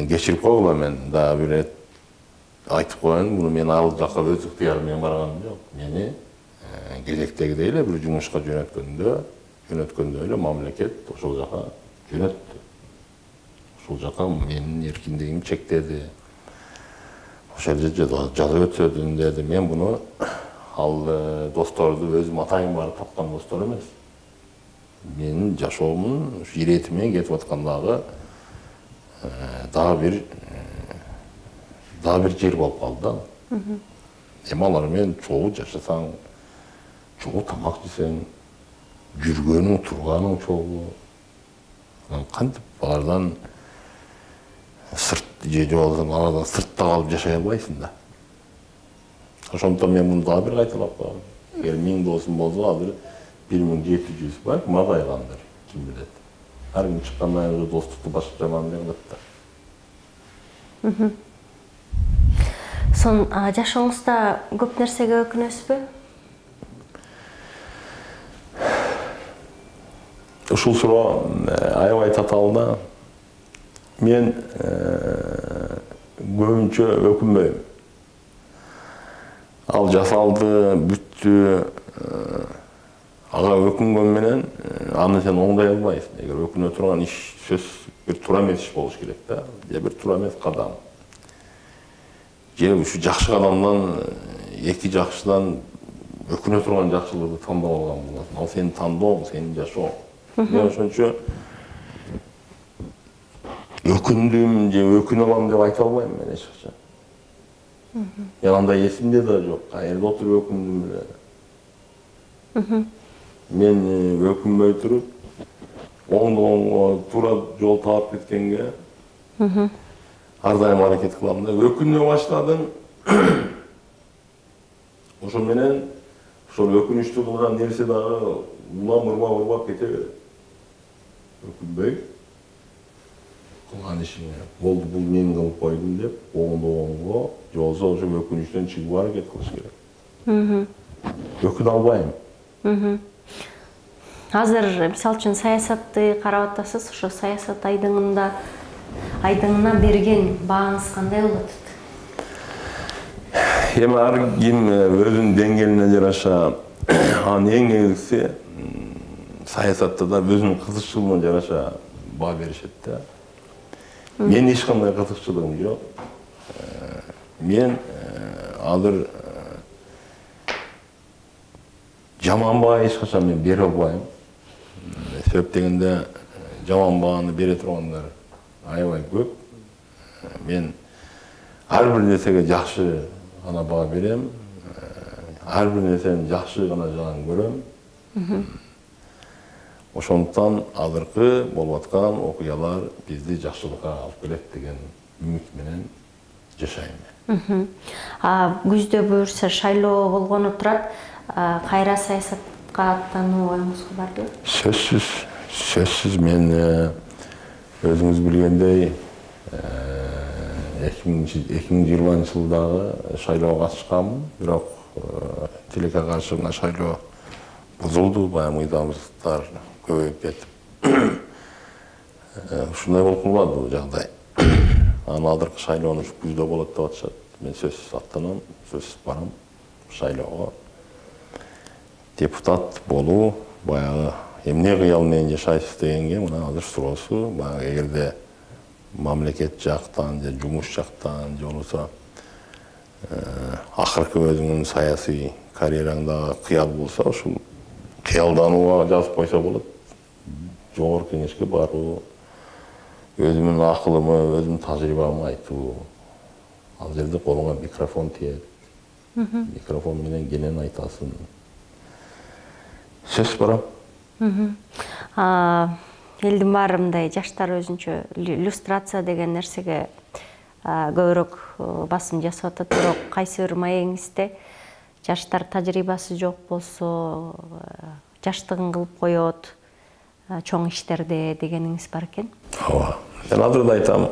кечирип койгула, мен дагы бир рет айтып коеюн, буну мен ал жака өз ыктыярым менен барганым жок. Мени кезектегидей эле бир жумушка жөнөткөндө эле мамлекет ошол жака жөнөттү. Ошол жака менин эркиндигимди чектеди. Ошол жерде жазып өтсөдүн деди. Мен буну ал досторду өзүм атайын барып тапкан достор эмес. Менин жашоомдун ушу иретим менен кетип аткандагы дагы бир жер болуп калды да. Эми алар менен чогуу жашасаң, чогуу тамак жесең, жүргөнүң, турганың чогуу. Кантип алардан сыртта калып жашай албайсың да. Ошондуктан мен муну дагы бир кайталап коем. Эгер 1000 досум болсо, азыр 1700 бар, мазайгандыр, ким билет. Ар ким чыккандан кийин достукту башка жаман деп атат да. Сон жашооңузда көп нерсеге өкүнөсүзбү? Ушул суроо аябай татаал да. Мен көбүнчө өкүнбөйм. Ал жасалды, бүттү. Ага өкүнгөн менен аны сен оңдой албайсың. Эгер өкүнө турган иш сөз бир туура эмес иш болуш керек да, же бир туура эмес кадам. Же ушу жакшы кадамдан эки жакшыдан өкүнө турган жакшылыгы тандап алган болосуң. Ал сенин тандооң, сенин жашооң. Мен ошончо өкүндүм же өкүнө алам деп айта албайм мен эч качан. Мен андай эсимде да жок. Каерде отуруп өкүндүм эле. Мен өкүнбөй туруп, оңдоңго туура жол таап кеткенге ар дайым аракет кылам да. Өкүнө баштадым. Ошо менен ошол өкүнүчтүү кылган нерсе дагы улам ырбап кете берет. Өкүнбөй кылган ишиңе болду, бул мен кылып койдум деп оңдоңго, же болбосо ошо өкүнүчтөн чыгууга аракет кылыш керек. Өкүнө албайм. Азыр мисалы үчүн саясатты карап атасыз, ошо саясат айдыңына берген бааңыз кандай болот? Эми ар ким өзүнүн деңгээлине жараша, анын эң негизгиси саясатта да өзүнүн кызыкчылыгына жараша баа беришет да. Мен эч кандай кызыкчылыгым жок. Мен азыр жаман баа эч качан мен бере албайм. Себеп дегенде жаман бааны бере тургандар аябай көп. Мен ар бир нерсеге жакшы гана баа берем. Ар бир нерсени жакшы гана жагын көрөм. Ошондуктан азыркы болуп аткан окуялар бизди жакшылыкка алып келет деген үмүт менен жашайм. Күздө буюрса шайлоо болгону турат. Кайра саясатка аттануу оюңузга бардыбы? Сөзсүз мен өзүңүз билгендей 2020-жылдагы шайлоого катышканмын, бирок тилекке каршы шайлоо бузулду, баягы мыйзамсыздыктар көбөйүп кетип. Ушундай болуп калбады бул жагдай. Анан азыркы шайлоону ушу күздө болот деп атышат. Мен сөзсүз аттанам, сөзсүз барам шайлоого. Депутат болуу баягы эмне кыял менен жашайсыз дегенге мына азыр суроосу, баягы эгерде мамлекет жактан же жумуш жактан же болбосо акыркы өзүңүн саясий карьераңда кыял болсо, ушул кыялданууга жазып койсо болот. Жогорку кеңешке баруу, өзүмдүн акылымы, өзүмдүн тажрыйбамды айтуу. Ал жерде колуңа микрофон тиет. Микрофон менен кенен айтасың. Сөз барам. Элдин баары мындай жаштар өзүнчө иллюстрация деген нерсеге көбүрөөк басым жасап атат, бирок кайсы бир маегиңизде жаштар тажрыйбасы жок болсо, жаштыгын кылып коет, чоң иштерде дегениңиз бар экен. Ооба. Мен азыр да айтам,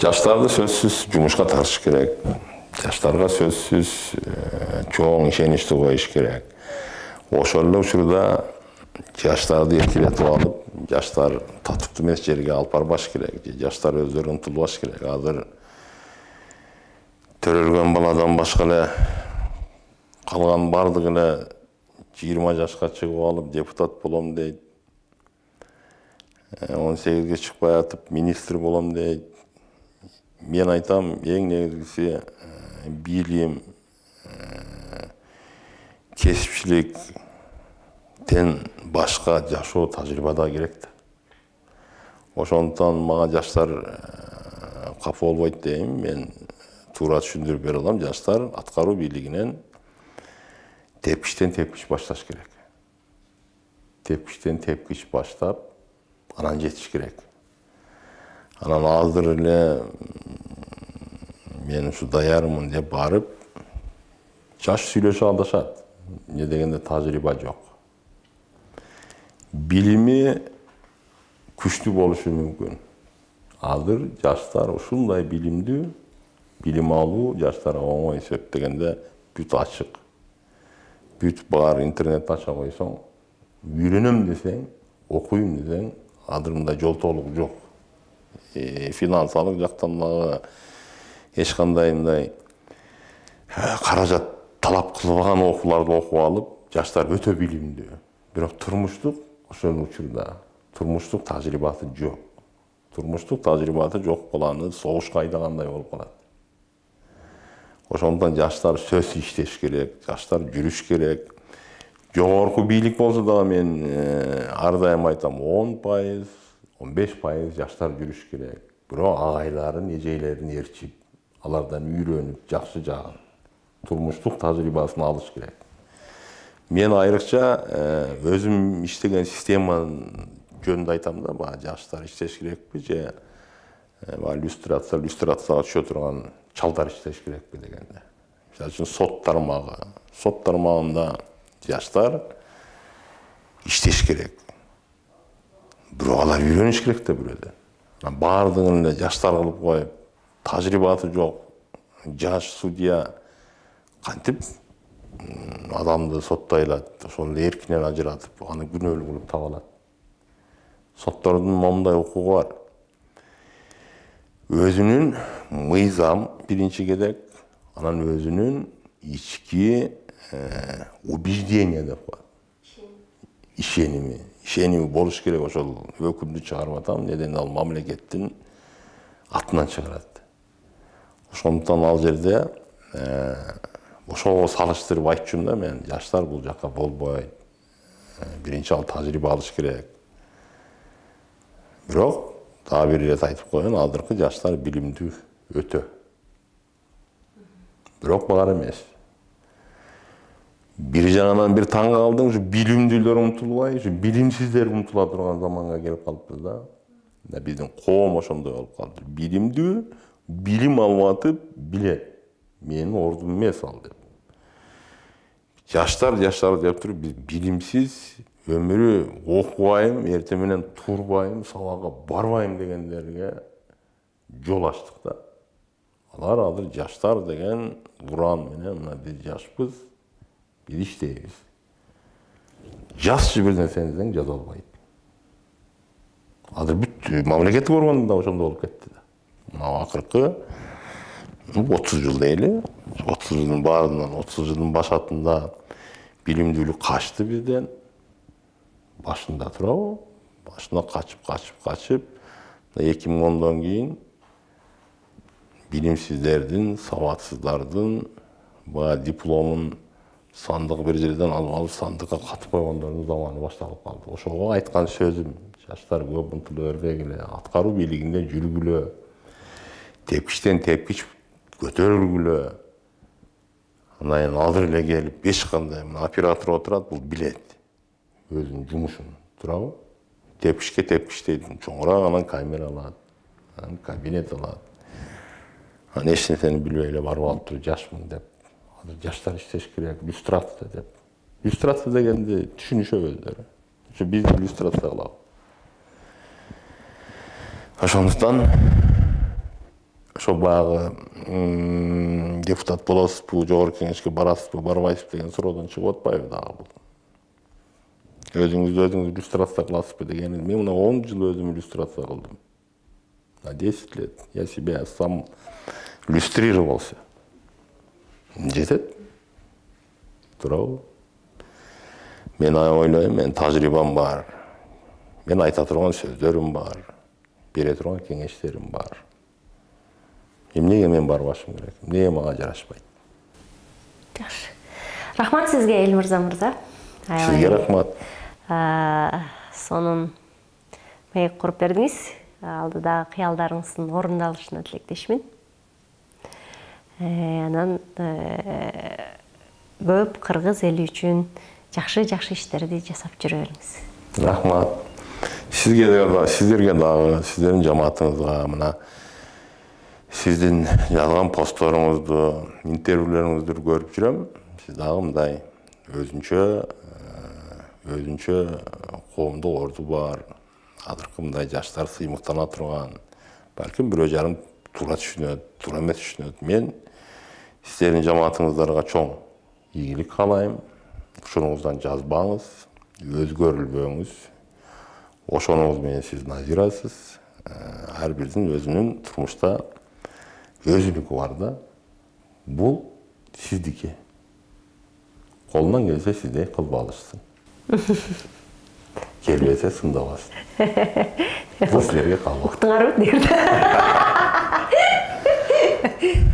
жаштарды сөзсүз жумушка тартыш керек. Жаштарга сөзсүз чоң ишеничти коюш керек. Ошол эле учурда жаштарды эркелетип алып, жаштар татыктуу эмес жерге алып барбаш керек. Жаштар өздөрү умтулбаш керек. Азыр төрөлгөн баладан башка эле калган бардыгы эле 20 жашка чыгып алып депутат болом дейт. 18ге чыкпай атып министр болом дейт. Мен айтам, эң негизгиси билим, кесипчиликтен башка жашоо тажрыйба да керек да. Ошондуктан мага жаштар капа болбойт дейм. Мен туура түшүндүрүп бере алам. Жаштар аткаруу бийлигинен тепкичтен тепкич башташ керек. Тепкичтен тепкич баштап, анан жетиш керек. Анан азыр эле мен ушу даярмын деп барып, жаш сүйлөшүп алдашат. Не дегенде тажрыйба жок. Билими күчтүү болушу мүмкүн. Азыр жаштар ушундай билимдүү, билим алуу жаштарга оңой. Себеп дегенде бүт ачык. Бүт бар интернет ача койсоң, үйрөнөм десең, окуйм десең, азыр мындай жолтоолук жок. Финансалык жактан дагы эч кандай мындай каражат талап кылбаган окууларды окуп алып, жаштар өтө билимдүү. Бирок турмуштук ошол учурда турмуштук тажрыйбасы жок. Турмуштук тажрыйбасы жок баланы согушка айдагандай болуп калат. Ошондон жаштар сөзсүз иштеш керек, жаштар жүрүш керек. Жогорку бийлик болсо дагы мен ар дайым айтам, 10%, 15% жаштар жүрүш керек. Бирок агайларын, эжейлерин ээрчип, алардан үйрөнүп, жакшы жагын, турмуштук тажрыйбасын алыш керек. Мен айрыкча өзүм иштеген системанын жөнүндө айтам да, баягы жаштар иштеш керекпи же иллюстрацияга түшө турган чалдар иштеш керекпи дегенде. Мисалы үчүн сот тармагында жаштар иштеш керек. Бирок алар үйрөнүш керек да бирөөдөн. Баардыгын эле жаштар кылып коюп, тажрыйбасы жок жаш судья кантип адамды соттой алат, ошол эле эркинен ажыратып, аны күнөөлүү кылып таба алат. Соттордун момундай укугу бар. Өзүнүн мыйзам биринчи керек, анан өзүнүн ички убеждение деп коет. Ишеними болуш керек, ошол өкүмдү чыгарып атам, неден ал мамлекеттин атынан чыгарат. Ошондуктан ал жерде ошого салыштырып айтчумун да мен, жаштар бул жакка болбойт. Биринчи ал тажрыйба алыш керек. Бирок дагы бир ирет айтып коеюн, азыркы жаштар билимдүү өтө. Бирок бар эмес. Бир жагынан бир таң калдым, ушу билимдүүлөр умтулбай, ушу билимсиздер умтула турган заманга келип калыппыз да. Биздин коом ошондой болуп калды. Билимдүү, билим алып атып, билет. Менин ордум эмес ал деп. Жаштар деп туруп, биз билимсиз өмүрү окубайм, эртең менен турбайм, сабакка барбайм дегендерге жол ачтык да. Алар азыр жаштар деген уран менен мына биз жашпыз, биз иштейбиз. Жазчы бир нерсени десең жаза албайт. Азыр бүт мамлекеттик органда ошондой болуп кетти да. Мына акыркы 30 жыл дейли, 30 жылдын баарынан 30 жылдын башатында билимдүүлүк качты бизден. Башында турабы? Башында качып, 2010дон кийин билимсиздердин, сабатсыздардын баягы дипломун сандык бир жерден алып сандыкка катып койгондордун заманы башталып калды. Ошого айткан сөзүм, жаштар көп умтула бербегиле, аткаруу бийлигинде жүргүлө, тепкичтен тепкич көтөрүлгүлө. Анан азыр эле келип эч кандай оператор отурат, бул билет өзүнүн жумушун, турабы? Тепкичке тепкичтейт, чоңураак анан камера алат, анан кабинет алат. Анан эч нерсени билбей эле барып алып туруп жашмын деп. Азыр жаштар иштеш керек, иллюстрация деп. Иллюстрация дегенди түшүнүшөбү өздөрү. Ушу биз иллюстрация кылабыз. Ошондуктан ошо баягы депутат болосузбу, жогорку кеңешке барасызбы, барбайсызбы деген суроодон чыгып атпайбы дагы бул. Өзүңүз иллюстрация кыласызбы дегени, мен мына 10 жыл өзүм иллюстрация кылдым. На 10 лет я себя сам иллюстрировался. Жетет. Турабы? Мен ойлойм, мен тажрыйбам бар. Мен айта турган сөздөрүм бар. Бере турган кеңештерим бар. Эмнеге мен барбашым керек? Эмнеге мага жарашпайт? Жакшы. Рахмат сизге, Элмырза мырза. Сизге рахмат. Сонун маек куруп бердиңиз. Алдыдагы кыялдарыңыздын орундалышына тилектешмин. Анан көп кыргыз эли үчүн жакшы иштерди жасап жүрө бериңиз. Рахмат. Сиздерге дагы, сиздердин жамаатыңызга, мына сиздин жазган постторуңузду, интервьюлөрүңүздү көрүп жүрөм. Сиз дагы мындай өзүнчө коомдук орду бар. Азыркы мындай жаштар сыймыктана турган, балким бирөө жарым туура түшүнөт, туура эмес түшүнөт. Мен сиздердин жамаатыңыздарга чоң ийгилик каалайм. Ушуңуздан жазбаңыз, өзгөрүлбөңүз. Ошонуңуз менен сиз назирасыз. Ар бирдин өзүнүн турмушта өзүнүкү бар да. Бул сиздики. Колунан келсе сиздей кылып алышсың. Келбесе сындабасың. Бул силерге калып. Уктуңарбы дейт.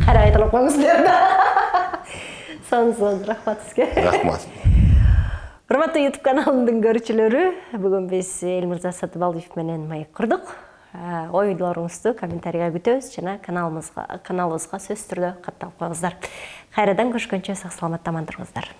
Кара айтылып коюңуздар да. Сонун, рахмат сизге. Рахмат. Урматтуу YouTube каналымдын көрүүчүлөрү, бүгүн биз Элмирза Сатыбалдиев менен маек курдук. Оюлоруңузду комментарийга күтөбүз жана каналыбызга сөзсүз түрдө катталып коюңуздар. Кайрадан көрүшкөнчө сак саламатта аман туруңуздар.